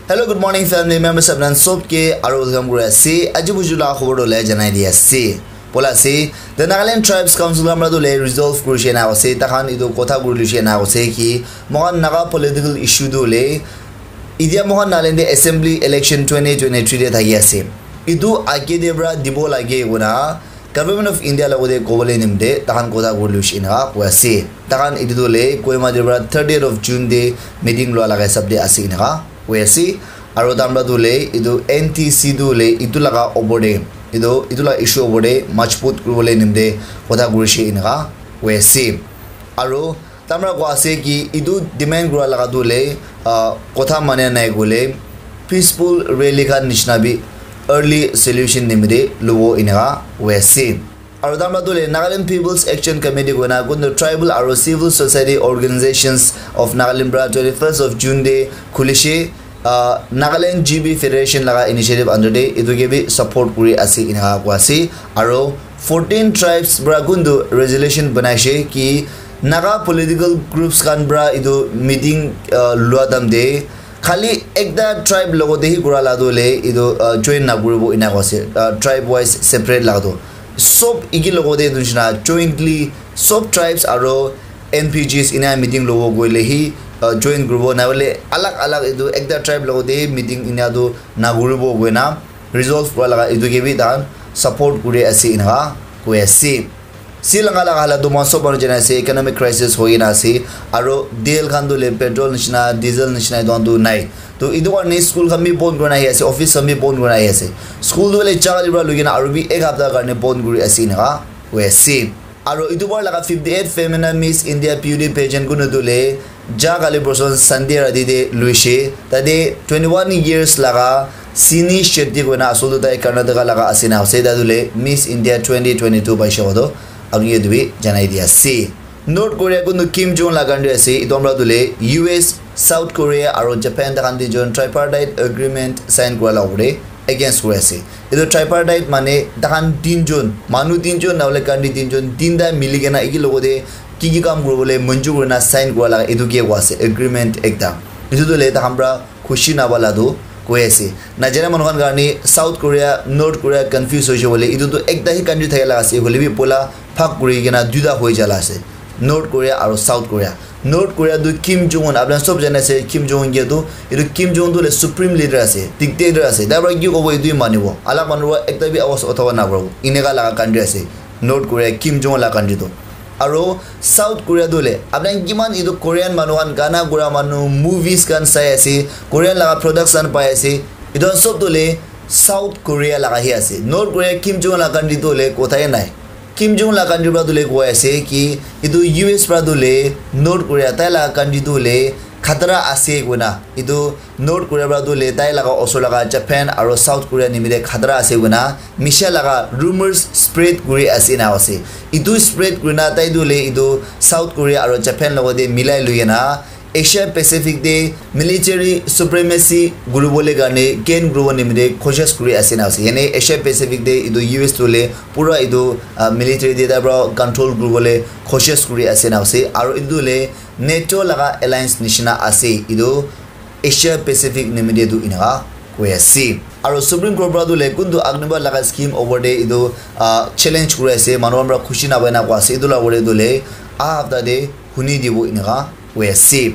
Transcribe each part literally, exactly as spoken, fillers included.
Hello, good morning, family members. Apnan sob ke aru welcome kuri ase. Aji buju la khobor dole janai di ase. Bola ase, the Nagaland Tribes Council amra dole resolve kuri she na ase. Tahan idu kotha kuri lu she na ase ki mohan Naga political issue dole idia mohan Nagaland de assembly election twenty twenty-three de thaki ase. Idu age de bra dibo lage kona Government of India logote kobole nimte tahan kotha kuri lushi inaka koi ase. Tahan etu tu le Kohima te pra thirtieth of June te meeting lua laga hisab te ase inaka koi ase. Aro tamra tu le etu N T C tu le etu laga opor te etu etu la issue opor te majbut kuribole nimte kotha kurishe inaka koi ase. Aro tamra koi ase ki etu demand kura laga tu le ah, kotha mane nai kole peaceful rally khan nishina bi early solution nimite luwo inaka koi ase. Aro tamra tu le Nagaland People's Action Committee koina kuntu tribal aro civil society organizations of Nagaland pra twenty-first of June te khulishe, ah, Nagaland G B Federation laga initiative under te etu ke bi support kuri ase inaka koi ase. Aro fourteen tribes pra kuntu resolution banaishe ki Naga political groups khan pra etu meeting, ah, lua time te khali ekta tribe logote hi kura la tu le etu, ah, join na kuribo ina koi ase, ah, tribe wise separate la tu. Sob iki logote etu nishina jointly sob tribes aro N P Gs ina meeting lobo koile hi, ah, join kuribo na hoile alag alag etu ekta tribe logote hi meeting ina tu na kuribo koina resolve kura laga etu ke bi tahan support kuri ase inaka koi ase. Sri Lanka laga halat tu mohan sob manu jana ase, economic crisis hoi kena ase, aro tel khan tu le petrol nishina, diesel nishina etu khan tu nai. To etu karne school khan bi bon kurina ahi ase, office khan bi bon kurina ahi ase. School tu le jaga libra lui kena aro bi ek hapta karne bon kuri ase inaka koi ase. Aro etu bar laga fifty-eight femina Miss India Beauty Pageant kunu tu le ja kali borson Sunday rati te luishe. Tate twenty-one years laga Sini Shetty koina asol tu tai Karnataka laga ase na ase. Tate le Miss India twenty twenty-two paishe koto apni ke etu bi janai di ase. North Korea kunu Kim Jong la country ase. Etu amra tu le U S, South Korea aro Japan tahan tinjon tripartite agreement sign kura la opor te against kuri ase. Etu tripartite mane tahan tinjon, manu tinjon na hoile country tinjon, tinta mili kena eki logote ki ki kam kuribole manjur kurina sign kura laga etu ke koi ase agreement ekta. Etu tu le tahan pra khushi naba la tu koi ase. Najana manu khan karne South Korea, North Korea confuse hoise bole etu tu ekta hi country thaka laga ase hoile bi poila bhag kuri kena duita hoi jala ase. North Korea aro South Korea. North Korea tu Kim Jong Un, apni sob jane ase Kim Jong Un ke tu, etu Kim Jong Un tu le supreme leader ase, dictator ase. Tai para ki kobo etu hi manibo. Alag manu para ekta bi awas uthaba na paribo. Eneka laga country ase North Korea, Kim Jong Un la country tu. Aro South Korea tu le, apni kiman etu Korean manu khan gana kura manu, movies khan sai ase, Korean laga products khan pai ase. Etu khan sob tu le South Korea laga hi ase. North Korea Kim Jong Un la country tu le kotha he nai. Kim Jong la country pra tu le koi ase ki etu U S pra tu le North Korea tai la country tu le khatara ase koina, etu North Korea pra tu le tai laga osor laga Japan aro South Korea nimite khatara ase koina misha laga rumors spread kuri ase na ase. Etu spread kurina tai tu le etu South Korea aro Japan logote milai lui kena Asia Pacific te military supremacy kuribole karne gain kuribo nimite koshish kuri ase na ase. Yane Asia Pacific te etu U S tu le pura etu, ah, military te tai para control kuribole koshish kuri ase na ase. Aro etu le NATO laga alliance nishina ase etu Asia Pacific nimite tu eneka koi ase. Aro Supreme Court para tu le kuntu Agnipath laga scheme opor te etu, ah, challenge kuri ase, manu khan para khushi napai na koi ase. Etu la opor te tu le aha hapta te huni dibo eneka koi ase.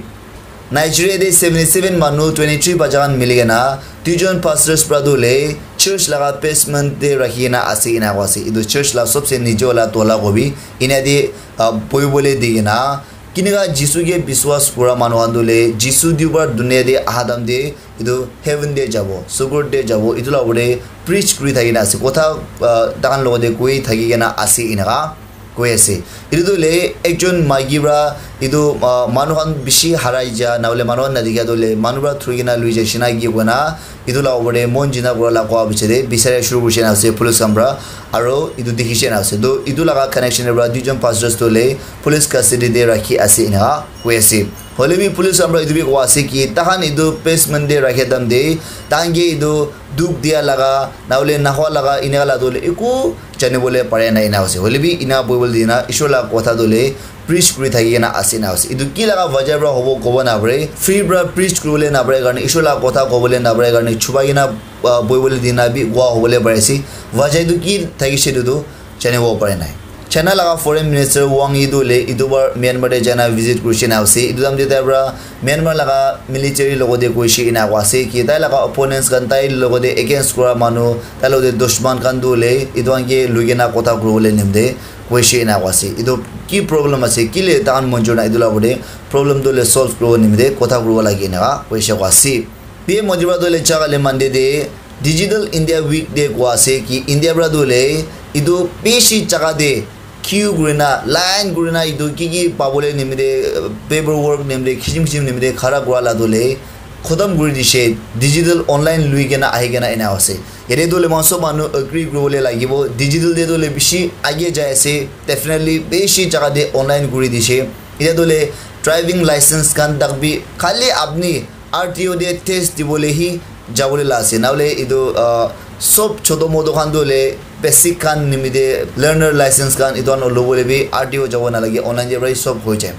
Nigeria te seventy-seven manu twenty-three bacha khan mili kena duijon pastors para tu le church laga basement te rakhi kena ase ena koi ase. Etu church la sobse niche wala tola kobi ena te, ah, bohi bole di kena kineka Jisu ke biswas kura manu khan tu le Jisu dubar dunia te aha time te etu heaven te jabo, sugur te jabo, etu la opor te preach kuri thaki na ase. Kotha, ah, tahan logote koi thaki kena ase eneka koi ase. Etu tu le ekjon maiki para etu, ah, manu khan bishi harai ja na hoile manu khan na dikha tu le manu para thuri kena lui ja shina ki koina etu la opor te mon jina kura la koa piche te bichari shuru kuri shina ase police khan para aro etu dikhi shina ase. To etu laga connection te para duijon pastors tu le police custody te rakhi ase eneka koi ase. Hoile bi police khan para etu bi koa ase ki tahan etu basement te rakhe time te tahan ke etu dukh dia laga na hoile nahwa laga eneka la tu hoile eku jani bole pare na ena ase. Hoile bi ena boibole dina Ishwar la kotha tu hoile preach kuri thaki kena ase na ase. Etu ki laga wajah para hobo kobo na pare. Free para preach kuribole na pare karne, Ishwar la kotha kobole na pare karne chubai kena, ah, boibole dina bi koa hobole pare ase. Wajah etu ki thakishe etu tu janibo pare nai. China laga foreign minister Wang Yi tu hoile etu bar Myanmar te jaina visit kurishe na ase. Etu time te tai para Myanmar laga military logote koishe ena koa ase ki tai laga opponents khan tai logote against kura manu, tai logote dushman khan tu hoile etu khan ke lui kena kotha kuribole nimite koishe ena koa ase. Etu ki problem ase, kile tahan monjur na etu la opor te problem tu hoile solve kuribo nimite kotha kuribo lage ena koishe koa ase. P M Modi para tu hoile jaga le Monday te Digital India Week te koa ase ki India para tu hoile etu bishi jaga te queue kurina, line kurina etu ki ki pabole nimite, uh, paperwork nimite, kisim kisim nimite khara kura la tu hoile khotom kuri dishe, digital online lui kena ahi kena ena ase. Yate tu hoile moikhan sob manu agree kuribole lagibo, digital te tu hoile bishi age jai ase, definitely bishi jaga te online kuri dishe. Yate tu hoile driving license khan tak bi khali apni R T O te test dibole hi jabole la ase. Na hoile etu, ah, sob choto moto khan tu hoile basic khan nimite learner license khan etu khan lobole bi R T O jabo na lage, online te para hi sob hoi jai.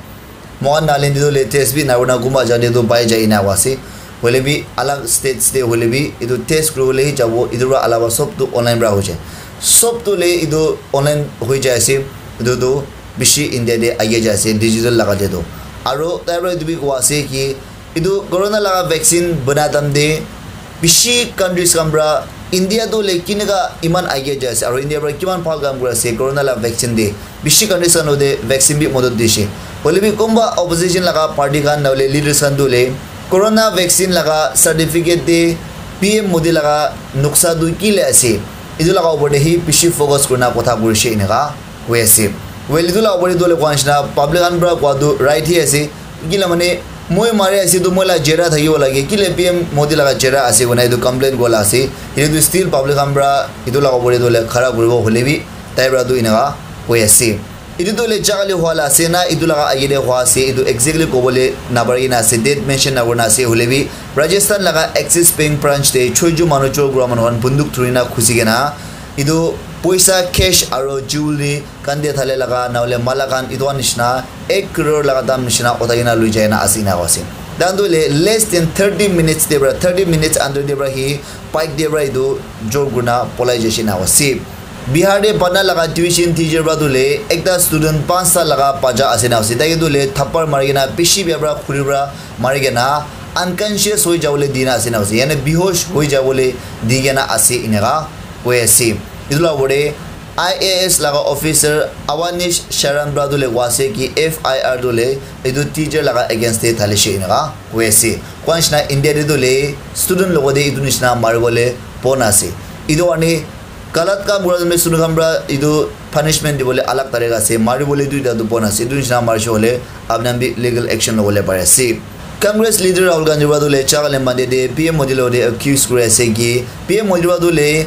Moikhan Nagaland te tu hoile test bi na kurina kunba jaga te tu pai jai ena koa ase. Hoile bi alag states te hoile bi etu test kuribole hi jabo, etu para alak sob tu online para hoi jai. Sob tu hoile etu online hoi jai ase, etu tu bishi India te age jai ase digital laga te tu. Aro tai para etu bi koa ase ki etu corona laga vaccine bana time te bishi countries khan para India tu hoile kineka iman age jai ase aro India para kiman bhal kam kuri ase corona laga vaccine te, bishi countries khan logote vaccine bi modot dishe. Hoile bi kunba opposition laga party khan na hoile leaders khan tu hoile corona vaccine laga certificate te P M Modi laga nuksa tu ki le ase, etu laga opor te hi bishi focus kurina kotha kurishe eneka koi ase. Well, etu la opor te tu hoile koa nishina public khan para koa tu right hi ase. Kila mane, moi mari ase tu moi la jera thakibo lage. Kile P M Modi laga jera ase koina etu complain koa la ase. Etu tu still public khan para etu la opor te tu hoile khara kuribo hoile bi tai para tu eneka koi ase. Etu tu hoile jaga le hua la ase na etu laga age te hua ase, etu exactly kobole na pari kena ase, date mention na kurina ase. Hoile bi Rajasthan laga Axis Bank branch te choijo manu chor kura manu khan bunduk dhurina khusi kena etu poisa cash aro jewelry khan te thale laga na hoile mala khan etu khan nishina ek crore laga dam nishina uthai kena lui jai na ase ena koa ase. Tahan tu hoile less than thirty minutes te para, thirty minutes under te para hi bike te para etu jor kurina polai jaise ena koa ase. Bihar te Patna laga tuition teacher para tu hoile ekta student panchta laga bacha ase ena koa ase. Tai ke tu hoile thappar mari kena bishi bia para khuri para mari kena unconscious hoi jabole dina ase ena koa ase. Yane behosh hoi jabole di kena ase eneka koi ase. Etu la opor te I A S laga officer Awanish Sharan para tu hoile koa ase ki F I R tu hoile etu teacher laga against te thalishe eneka koi ase. Koa nishina India te tu hoile student logote etu nishina maribole bon ase. Etu karne galat kam kura time te student khan para etu punishment dibole alag tarika ase. Maribole tu etu bon ase. Etu nishina marishe hoile apni khan bi legal action lobole pari ase. Congress leader Rahul Gandhi para tu hoile jaga le Monday te P M Modi logote accuse kuri ase ki P M Modi para tu hoile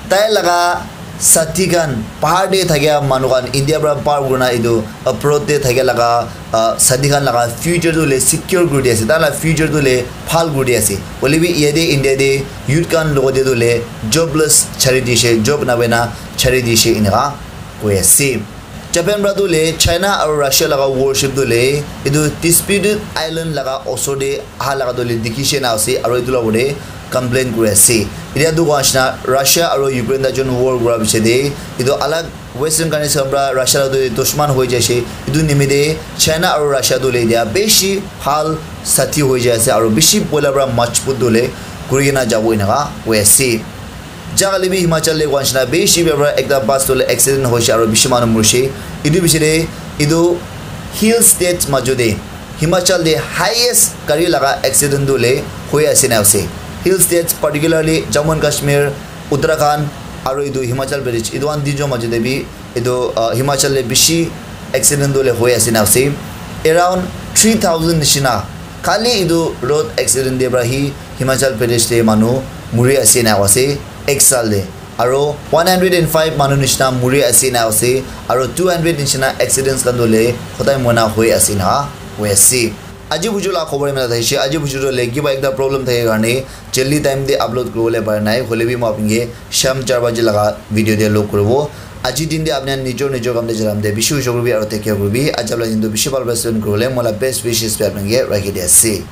tai laga sathi khan bahar te thakia manu khan India para par kurina etu abroad te thakia laga, ah, sathi khan laga future tu hoile secure kuri di ase, tai laga future tu hoile bhal kuri di ase. Hoile bi yate India te youth khan logote tu hoile jobless chari dishe, job na paina chari dishe eneka koi ase. Japan para tu hoile China aro Russia laga warship tu hoile etu disputed island laga osor te aha laga tu hoile dikhishe na ase aro etu la opor te complain kuri ase. Etia tu koa nishina Russia aro Ukraine ta jon war kura piche te etu alag western countries khan para Russia la tu dushman hoi jaise. Etu nimite China aro Russia tu hoile etia bishi bhal sathi hoi jai ase aro bishi poila para majbut tu hoile kuri kena jabo eneka koi ase. Jaga le bi Himachal le koa nishina bishi bia para ekta bus tu hoile accident hoise aro bishi manu morise. Etu piche te etu hill states majo te Himachal te highest gari laga accident tu hoile hoi ase na ase. Hill states particularly Jammu and Kashmir, Uttarakhand aro etu Himachal Pradesh, etu khan tinjon majo te bi etu, ah, Himachal te bishi accident tu hoile hoi ase na ase. Around three thousand nishina khali etu road accident te para hi Himachal Pradesh te manu muri ase na ase ek saal te. Aro one hundred and five manu nishina muri ase na ase. Aro two hundred nishina accidents khan tu hoile hodai moina hoi ase na hoi ase. Aji buju la khobor imana thakishi. Aji buju to le kiba ekta problem thake karne jaldi time te upload kuribole para nai. Hoile bi moi apni ke sham char baji laga video te log kuribo. Aji din te apni nijor nijor kam te jalam te bishi ujor kuribi aru take care kuribi. Aji la din to bishi bhal bhal spend kuribole moi la best wishes bi apni ke rakhi di ase.